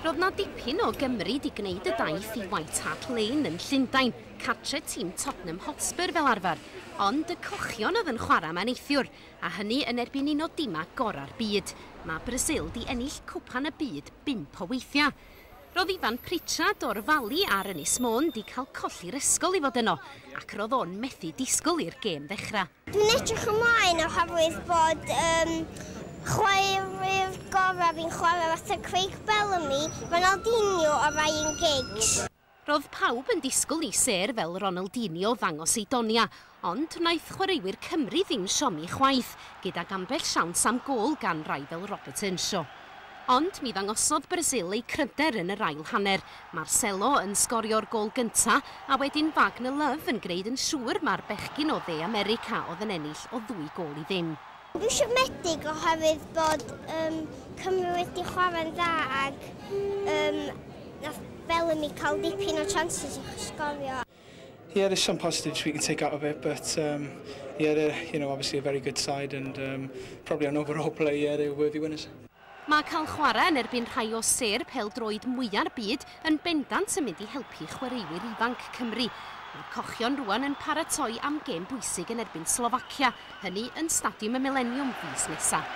Roedd 'na dipyn o Gymry 'di gwneud y daith i White Hart Lane yn Llundain, cartre tîm Tottenham Hotspur fel arfer, ond y cochion oedd yn chwarae 'ma neithiwr, a hynny yn erbyn un o dimau gorau'r byd. Mae Brasil 'di ennill Cwpan y Byd 5 o weithiau. Roedd Ifan Pritchard o'r Fali ar Ynys Môn 'di cael colli'r ysgol i fod yno, ac roedd o'n methu disgwyl i'r gêm ddechrau. Dwi'n edrych ymlaen oherwydd bod chwaraewyr gorau fi'n chwarae fatha Craig Bellamy, Ronaldinho a Ryan Giggs. Roedd pawb yn disgwyl i sêr fel Ronaldinho ddangos ei donia, ond wnaeth chwaraewyr Cymru ddim siomi chwaith, gydag ambell siawns am gôl gan rai fel Robert Earnshaw. Ond mi ddangosodd Brasil eu cryfder yn yr ail hanner. Marcelo yn sgorio'r gôl gynta, a wedyn Wagner Love yn gwneud yn siŵr mai'r bechgyn o Dde America oedd yn ennill o 2 gôl i ddim. Dwi'n siomedig oherwydd bod Cymru wedi chwarae'n dda ac nath Bellamy cael dipyn o chances i sgorio. Yeah, there's some positives we can take out of it, but yeah, they're obviously a very good side and probably on overall play, yeah, they're worthy winners. Mae cael chwarae yn erbyn rhai o sêr pêl-droed mwya'r byd yn bendant yn mynd i helpu chwaraewyr ifanc Cymru. Mae'r cochion rwan yn paratoi am gêm bwysig yn erbyn Slofacia, hynny yn Stadiwm y Mileniwm fis nesaf.